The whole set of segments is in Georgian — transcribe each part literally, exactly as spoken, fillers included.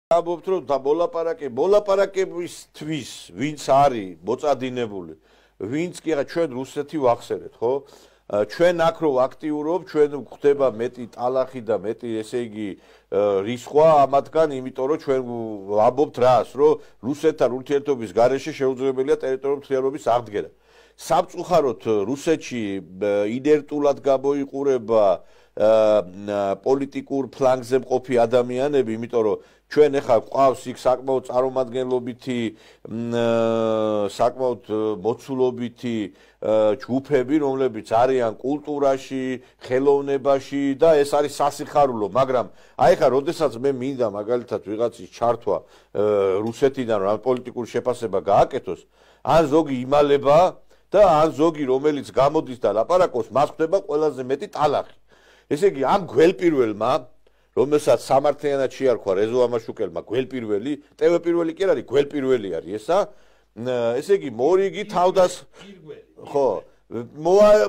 ამბობთ რომ და მოლაპარაკე მოლაპარაკებისთვის ვინც არის მოწადინებული ვინც კი არა ჩვენ რუსეთი ვახსენეთ ხო ჩვენ აქ რო აქტიურობ ჩვენ გვხდება მეტი ტალახი და მეტი ესე იგი რისხვა ამათგან იმიტომ რომ ჩვენ ვამბობთ რას რომ რუსეთთან ურთიერთობის გარეშე შეუძლებელია ტერიტორიული მთლიანობის აღდგენა სამწუხაროდ რუსეთში ინერტულად გამოიყურება პოლიტიკურ ფლანგზე მყოფი ადამიანები, იმიტომ რომ ჩვენ ახლა ყავს იქ საკმაოდ წარმომადგენლობითი საკმაოდ მოცულობითი ჯგუფები, რომლებიც არიან კულტურაში, ხელოვნებაში და ეს არის სასიხარულო, მაგრამ აი ხა როდესაც მე მინდა მაგალითად ვიღაცის ჩართვა რუსეთიდან რა პოლიტიკური შეფასება გააკეთოს, ან ზოგი იმალება და ან ზოგი რომელიც გამოდის და ლაპარაკობს, მას ხდება ყველაზე მეტი ტალახი. ესე იგი ამ გველპირველმა რომელსაც სამართლიანად შეარქვა რეზო ამაშუკელმა გველპირველი, ტევ პირველი კი არ არის, გველპირველი არის ესა. ესე იგი მორიგი თავდას ხო,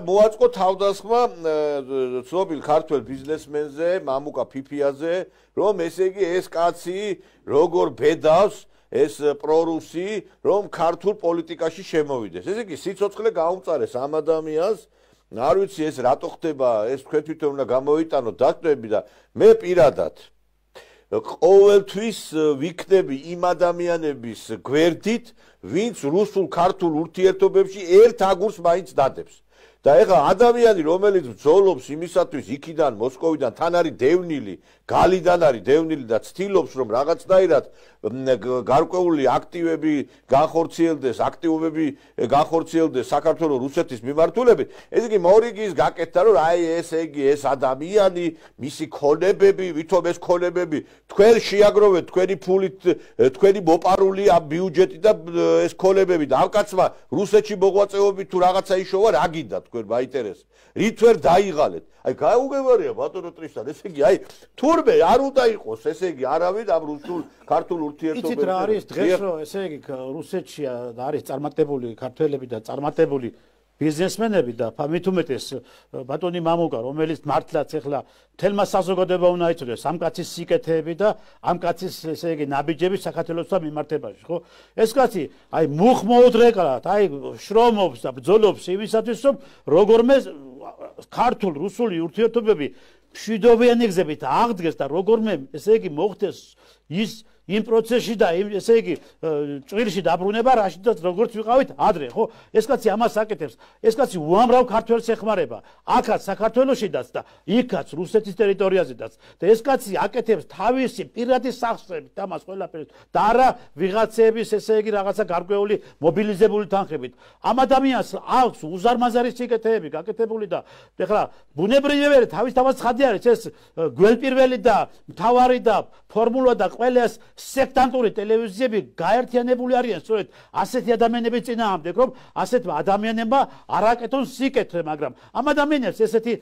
მოაწყო თავდასხმა ცნობილ ქართველ ბიზნესმენზე, მამუკა ფიფიაზე, რომ ესე იგი ეს კაცი როგორ ბედავს ეს პრორუსი, რომ ქართულ პოლიტიკაში შემოვიდეს. ესე იგი სიცოცხლე გაუმწარეს ამ ადამიანს არ ვიცი ეს რატო ხდება ეს თქვენ თვითონ უნდა გამოიტანოთ დაწვევები და მე პირადად ყოველთვის ვიქნები იმ ადამიანების გვერდით ვინც რუსულ ქართულ ურთიერთობებში ერთ აგურს მაინც დადებს და ეხლა ადამიანი რომელიც ბრძოლობს იმისათვის იქიდან მოსკოვიდან თან არის დევნილი გალიდან არის დევნილი და ცდილობს რომ რაღაცნაირად გარკვეული აქტივები განხორციელდეს აქტივობები განხორციელდეს საქართველოს რუსეთის მიმართულებით ეს იგი მორიგის გაკეთდა რომ აი ესე იგი ეს ადამიანი მისი ქონებები ვითომ ეს ქონებები თქვენ შეაგროვეთ თქვენი ფულით თქვენი მოპარული ამ ბიუჯეტი და ეს ქონებები და ამ კაცმა რუსეთში მოღვაწეობით თუ რაღაცა იშოვა რა გინდა თქვენ მაინტერესებს რით ვერ დაიღალეთ აი გაუგებარია ბატონო ტრისთან ესე იგი აი თურმე არ უნდა იყოს ესე იგი არავინ ამ რუსულ ქართულ ურთიერთობებში იცით რა არის დღეს რომ ესე იგი რუსეთში არის წარმატებული ქართველები და წარმატებული ბიზნესმენები და მით უმეტეს ბატონი მამუკა რომელიც მართლაც ეხლა თელმა საზოგადოება უნდა იცოდეს ამ კაცის სიკეთეები და ამ კაცის ესე იგი ნაბიჯები საქართველოსთან მიმართებაში ხო ეს კაცი აი მუხმოუდრეკრად აი შრომობს და ბრძოლობს იმისათვის რომ როგორმე ქართულ რუსული ურთიერთობები მშვიდობიანი გზებით აღდგეს და როგორმე ესე იგი მოხდეს ის იმ პროცესში და ესე იგი ჭრილში დაბრუნება რაშიდაც როგორც ვიყავით ადრე ხო ეს კაცი ამას აკეთებს ეს კაცი უამრავ ქართველს ეხმარება აქაც საქართველოსშიდაც და იქაც რუსეთის ტერიტორიაზედაც და ეს კაცი აკეთებს თავისი პირადი სახსრებით ამას ყველაფერს და არა ვიღაცების ესე იგი რაღაცა გარკვეული მობილიზებული თანხებით ამ ადამიანს აქვს უზარმაზარი სიკეთეები გაკეთებული და ეხლა ბუნებრივია თავის თავად ცხადი არის ეს გველპირველი და მთავარი და ფორმულა და ყველას სექტანტური ტელევიზიები გაერთიანებული არიან სწორედ ასეთი ადამიანების წინააღმდეგ რომ ასეთ ადამიანებმა არ აკეთონ სიკეთე მაგრამ ამ ადამიანებს ესეთი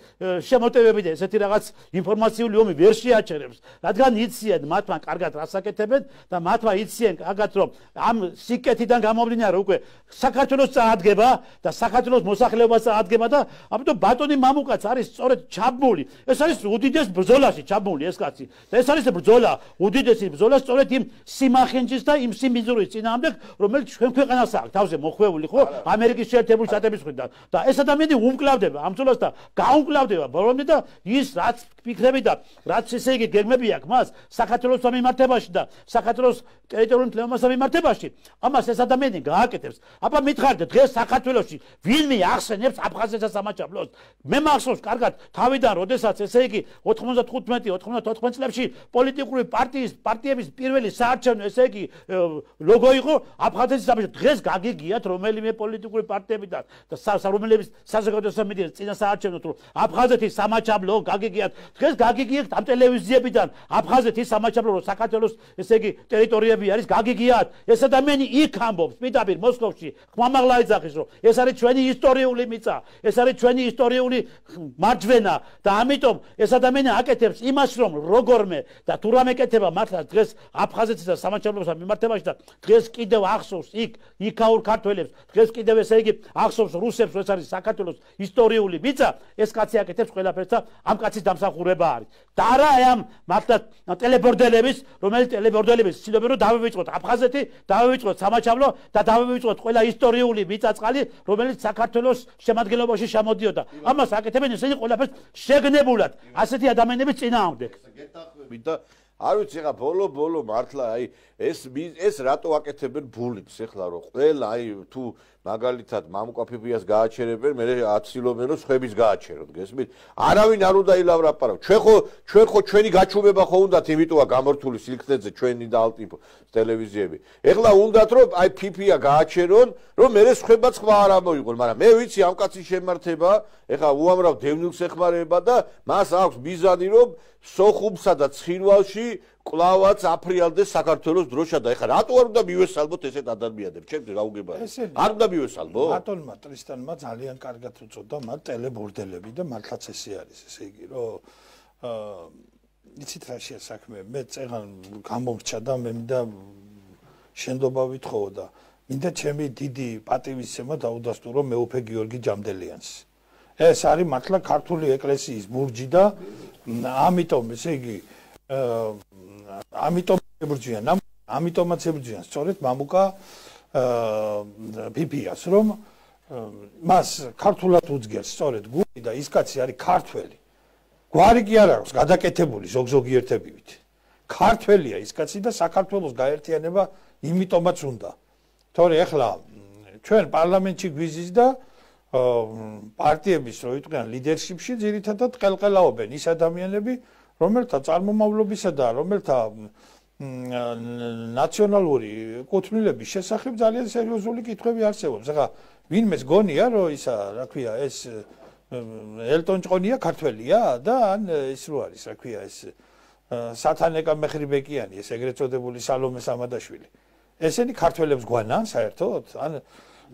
შემოტევები და ესეთი რაღაც ინფორმაციული ომი ვერ შეაჩერებს რადგან იციან მათმა კარგად რას აკეთებენ და მათმა იციან კარგად რომ ამ სიკეთიდან გამომდინარე უკვე საქართველოს წაადგება და საქართველოს მოსახლეობას წაადგება და ამიტომ ბატონი მამუკაც არის სწორედ ჩაბმული ეს არის უდიდეს ბრძოლაში ჩაბმული ეს კაცი და ეს არის ბრძოლა უდიდესი ბრძოლა სწორედ იმ სიმახენჯის და იმ სიმბიძურის წინააღმდეგ რომელიც ჩვენ ქვეყანას აქვს თავზე მოხვეული ხო ამერიკის შეერთებული შტატების მხრიდან და ეს ადამიანი უმკლავდება ამ ბრძოლას და გაუმკლავდება ბოლომდე და ის რაც ფიქრები და რაც ესე იგი გეგმები აქვს მას საქართველოს მიმართებაში და საქართველოს ტერიტორიული მთლიანობასთან მიმართებაში ამას ეს ადამიანი გააკეთებს აბა მითხარით დღეს საქართველოში ვინმე ახსენებს აფხაზეთსა სამაჩაბლოს მე მახსოვს კარგად თავიდან როდესაც ესე იგი ოთხმოცდათხუთმეტი ოთხმოცდაოთხმეტი წლებში პოლიტიკური პარტიის პარტიების პირველი საარჩევნო ესე იგი ლოგო იყო აფხაზეთის სამაჩაბლო დღეს გაგიგიათ რომელიმე პოლიტიკური პარტიებიდან და რომელების საზოგადოებრივ მედიას წინა საარჩევნოთ რომ აფხაზეთის სამაჩაბლო გაგიგიათ დღეს გაგიგიათ ამ ტელევიზიებიდან აფხაზეთის სამაჩაბლო რომ საქართველოს ესე იგი ტერიტორიები არის გაგიგიათ ეს ადამიანი იქ ამბობს პირდაპირ მოსკოვში ხმამაღლა ეძახის რომ ეს არის ჩვენი ისტორიული მიწა ეს არის ჩვენი ისტორიული მარჯვენა და ამიტომ ეს ადამიანი აკეთებს იმას რომ როგორმე და თუ რამე ეკეთება მართლა დღეს აფხაზეთის და სამაჩაბლოსთან მიმართებაში და დღეს კიდევ ახსოვს იქ იქაურ ქართველებს დღეს კიდევ ესე იგი ახსოვს რუსებს ეს არის საქართველოს ისტორიული მიწა ეს კაცი აკეთებს ყველაფერს და ამ კაცის დამსახურება დაწესებულება არის. და არა ამ მართლა ტელებორდელების, რომელიც ტელებორდელების ცდილობენ რომ დავივიწყოთ აფხაზეთი, დავივიწყოთ სამაჩაბლო და დავივიწყოთ ყველა ისტორიული მიწა-წყალი, რომელიც საქართველოს შემადგენლობაში შემოდიოდა. ამას აკეთებენ ისინი ყველაფერს შეგნებულად, ასეთი ადამიანების წინააღმდეგ. გეთანხმებით და არ ვიცი ხა ბოლო-ბოლო მართლა აი ეს ეს რატო აკეთებენ ბულიკს ეხლა რომ ყველა აი თუ მაგალითად მამუკაფიფიას გააჩერებენ, მე აცილობენ რომ სხვების გააჩეროთ, გესმით? არავინ არ უნდა ილავრაპარავ. ჩვენ ხო ჩვენ ხო ჩვენი გაჩუმება ხო უნდათ, იმიტომა გამორთული სილქნეზე ჩვენი და ალტიფ ტელევიზიები. ეხლა უნდათ რომ აი ფიფია გააჩერონ, რომ მე სხვებაც ხმა არ ამოიღონ, მაგრამ მე ვიცი ამ კაცის შემართება, ეხლა უამრავ დევნილს ეხმარება და მას აქვს მიზანი რომ სოხუმსა და ცხინვალში კლავაც აფრიალდეს საქართველოს დროშა და ეხლა რატო არ უნდა მივესალმოთ ესეთ ადამიანებს? ჩემს გაუგებარი. არ უნდა მივესალმო? ბატონმა ტრისტანმა ძალიან კარგად უწოდა მათ ტელებორდელები და მართლაც ესე არის, ესე იგი, რომ აა იცით რა შეა საქმე, მე წეგან გამომრჩა და მე მინდა შენდობა ვითხოვო და მინდა ჩემი დიდი პატივისცემა დაუდასტურო მეუფე გიორგი ჯამდელიანს. ეს არის მართლა ქართული ეკლესიის ბურჯი და ამიტომ ესე იგი ამიტომ ებრძვიან, ამიტომაც ებრძვიან სწორედ მამუკა ფიფიას, რომ მას ქართულად უძგერს სწორედ გული და ის კაცი არის ქართველი. გვარი კი არ აქვს გადაკეთებული ზოგ-ზოგიერთებივით. ქართველია ის კაცი და საქართველოს გაერთიანება იმიტომაც უნდა. თორე ეხლა ჩვენ პარლამენტში გვიზის და პარტიების რო იყვნენ ლიდერშიპში ძირითადად ყელყელაობენ ის ადამიანები, რომელთა წარმომავლობისა და რომელთა ნაციონალური კუთვნილების შესახებ ძალიან სერიოზული კითხვები არსებობს. ახლა ვინმეს გონია რომ ისა, რა ქვია, ეს ელტონ ჭყონია ქართველია და ან ის რო არის, რა ქვია, ეს სათანეკა მეხრიბეკიანი, ეს ეგრეთ წოდებული სალომე სამადაშვილი. ესენი ქართველებს გვანან საერთოდ? ან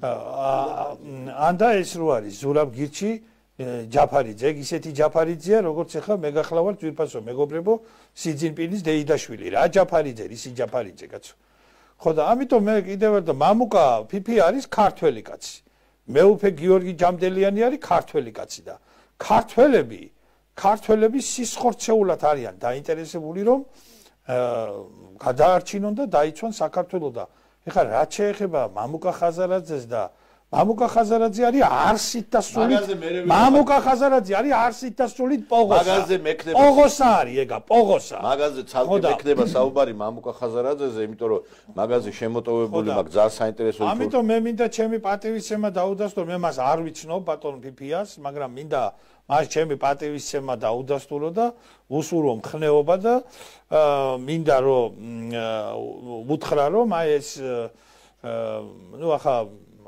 ან და ეს რო არის ზურაბ გირჩი ჯაფარიძე, ისეთი ჯაფარიძეა, როგორც ახლა მე გახლავართ ძვირფასო მეგობრებო, სიძინპინის დეიდაშვილი. რა ჯაფარიძე, ისი ჯაფარიძე კაცო. ხო და ამიტომ მე კიდევ ერთ და მამუკა ფიფი არის ქართველი კაცი. მეუფე გიორგი ჯამდელიანი არის ქართველი კაცი და ქართველები, ქართველები სისხორცეულად არიან დაინტერესებული, რომ გადაარჩინონ და დაიცვან საქართველო და ეხლა რაც შეეხება მამუკა ხაზარაძეს და მამუკა ხაზარაძე არის არსით და სულით მამუკა ხაზარაძე არის არსით და სულით პოღოსა. მაგაზე მექნება პოღოსა არის ეგა, პოღოსა. მაგაზე ცალკე მექნება საუბარი მამუკა ხაზარაძეზე, იმიტომ რომ მაგაზე შემოტოვებული მაგ ძალიან საინტერესო იყო. ამიტომ მე მინდა ჩემი პატივისცემა დაუდასტურო, მე მას არ ვიცნობ ბატონ ფიფიას, მაგრამ მინდა მას ჩემი პატივისცემა დაუდასტურო და უსურო მხნეობა და მინდა რომ უთხრა რომ აი ეს ნუ ახლა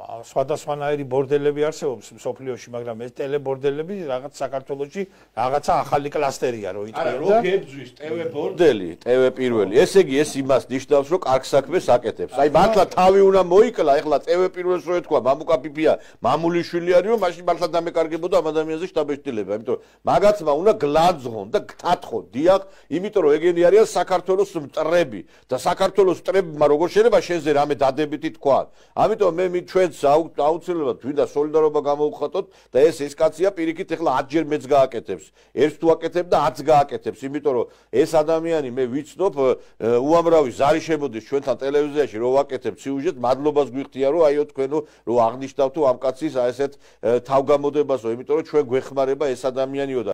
სხვადასხვანაირი ბორდელები არსებობს მსოფლიოში, მაგრამ ეს ტელებორდელები რაღაც საქართველოში რაღაცა ახალი კლასტერია რო იტყვი და არა, რო გებძვის ტევ ბორდელი, ტევ პირველი. ესე იგი ეს იმას ნიშნავს, რომ კარგ საქმეს აკეთებს. აი მართლა თავი უნდა მოიკლა, ეხლა ტევ პირველს რო ეთქვა მამუკა ფიფია, მამულიშვილი არის, რომ მაშინ მართლა დამეკარგებოდა ამ ადამიანზე შტაბ-ეშტილება, იმიტომ მაგაცმა უნდა გლაძღონ და გთათხონ, დიახ, იმიტომ რომ ეგენი არიან საქართველოს მტრები და საქართველოს მტრებმა როგორ შეიძლება შენზე რამე დადებითი თქვა. ამიტომ მე მით ჩვენ აუცილებლად ვინდა სოლიდარობა გამოვხატოთ და ეს ეს კაცია პირიქით ეხლა ათჯერ მეც გააკეთებს. ერთს თუ აკეთებ და ათს გააკეთებს, იმიტომ რომ ეს ადამიანი მე ვიცნობ უამრავი ზარი შემოდის ჩვენთან ტელევიზიაში რო ვაკეთებ სიუჟეტ, მადლობას გვიხდია რომ აიო თქვენო რო აღნიშნავთო ამ კაცის აი ესეთ თავგამოდებასო, იმიტომ რომ ჩვენ გვეხმარება ეს ადამიანიო და